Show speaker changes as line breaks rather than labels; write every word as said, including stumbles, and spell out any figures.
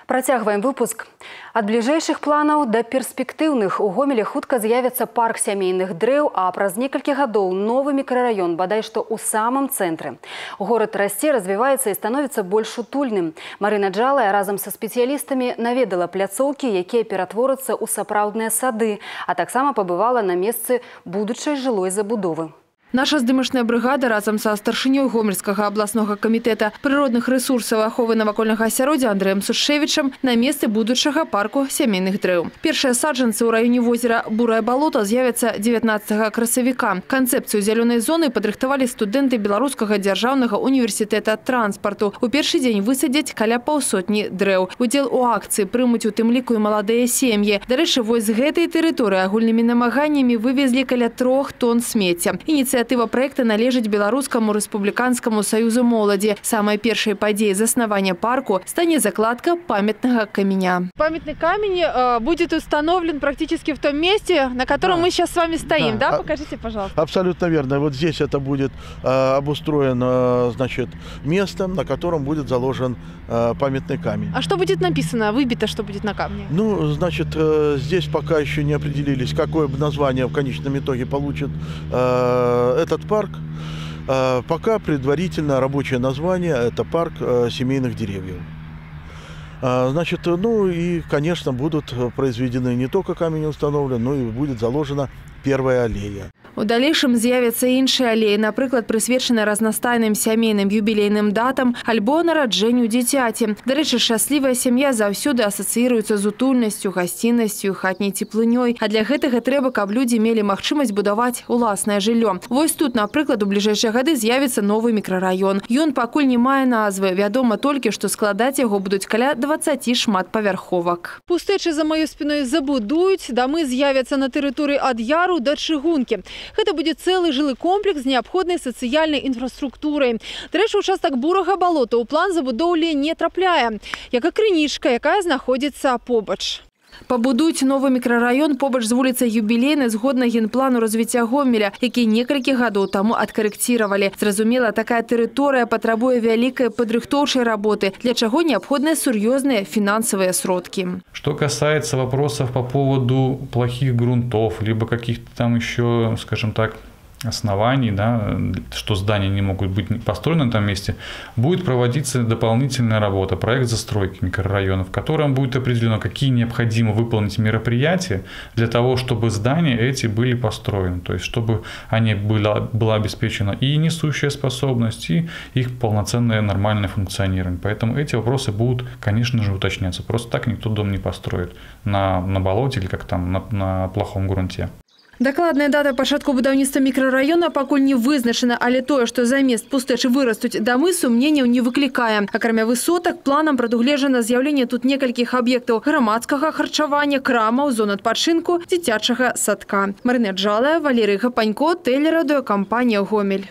Працягваем выпуск. Ад бліжэйшых планаў да перспектыўных у Гомелі хутка з'явіцца парк сямейных дрэў, а праз некалькі гадоў новы мікрараён, бадай што ў самым цэнтры. Горад расце, развіваецца і становіцца больш утульным. Марына Джалая разам са спецыялістамі наведала пляцоўкі, якія ператворацца ў сапраўдныя сады, а таксама пабывала на месцы будучай жылой забудовы.
Наша здымачная бригада разом со старшынёй Гомельскага абласнога камітэта прыродных рэсурсаў аховы навакольнага асяроддзя Андрэем Сушевічам на месцы будучага парку сямейных дрэў. Першыя саджанцы ў раёне возера Бурае балото з'явяцца дзевятнаццатага красавіка. Канцэпцыю зялёнай зоны падрыхтавалі студэнты Беларускага дзяржаўнага універсітэта транспарту. У першы дзень высадзяць каля паўсотні дрэў. Удзел у акцыі прымуць у тым ліку і маладыя сем'і. Дарэчы, вось з гэтай тэрыторыі агульнымі намаганнямі вывезлі каля трох тонн смецця. Ініцыятыва проекта належыць Беларускаму рэспубліканскаму саюзу моладзі. Самай першай падзеяй заснавання парку стане закладка памятнага каменя.
Памятный камень э, будет установлен практически в том месте, на котором да. мы сейчас с вами стоим, да? да? Покажите, пожалуйста.
Абсолютно верно. Вот здесь это будет э, обустроено, значит, место, на котором будет заложен э, памятный камень.
А что будет написано, выбито, что будет на камне?
Ну, значит, э, здесь пока еще не определились, какое название в конечном итоге получит э, этот парк. Пока предварительно рабочее название – это парк семейных деревьев. Значит, ну и, конечно, будут произведены не только камень установлен, но и будет заложена первая аллея.
У далейшым з'явяцца іншыя алеі, напрыклад, прысвечаны разнастайным сямейным юбілейным датам альбо нараджэнню дзіцяці. Дарэчы, шчаслівая сям'я заўсёды асацыіруецца з утульнасцю, гасціннасцю, хатняй цеплынёй. А для гэтага трэба, каб людзі мелі магчымасць будаваць уласнае жыллё. Вось тут, напрыклад, у бліжэйшыя гады з'явіцца новы мікрараён. Ён пакуль не мае назвы. Вядома толькі, што складаць яго будуць каля дваццаці шматпавярховак.
Пустэчы за маёй спіной забудуюць, дамы з'явяцца на тэрыторыі ад Яру да Чыгункі. Гэта будзе цэлы жылы комплекс з неабходнай сацыяльнай інфраструктурай. Дарэчы, участак Бурага балота ў план забудоўлі не трапляе, як і крынічка, якая знаходзіцца побач.
Пабудуюць новы мікрараён побач з вуліцай Юбілейнай згодна генплану развіцця Гомеля, які некалькі гадоў таму адкарэкціравалі. Зразумела, такая тэрыторыя патрабуе вялікай падрыхтоўчай работы, для чаго неабходныя сур'ёзныя фінансавыя сродкі.
Что касается вопросов по поводу плохих грунтов, либо каких-то там еще, скажем так, оснований, да, что здания не могут быть построены на этом месте, будет проводиться дополнительная работа, проект застройки микрорайонов, в котором будет определено, какие необходимо выполнить мероприятия для того, чтобы здания эти были построены, то есть чтобы они была, была обеспечена и несущая способность, и их полноценное нормальное функционирование. Поэтому эти вопросы будут, конечно же, уточняться. Просто так никто дом не построит на, на болоте или как там, на, на плохом грунте.
Дакладная дата пачатку будаўніцтва мікрараёна пакуль не вызначана, але тое, што замест пустэчы вырастуць дамы, сумненняў не выклікае. Акрамя высотак, планам прадугледжана з'яўленне тут некалькіх аб'ектаў грамадскага харчавання, крамаў, зон адпачынку, дзіцячага садка. Марына Джалая, Валерый Гапанько, тэлерадыёкампанія «Гомель».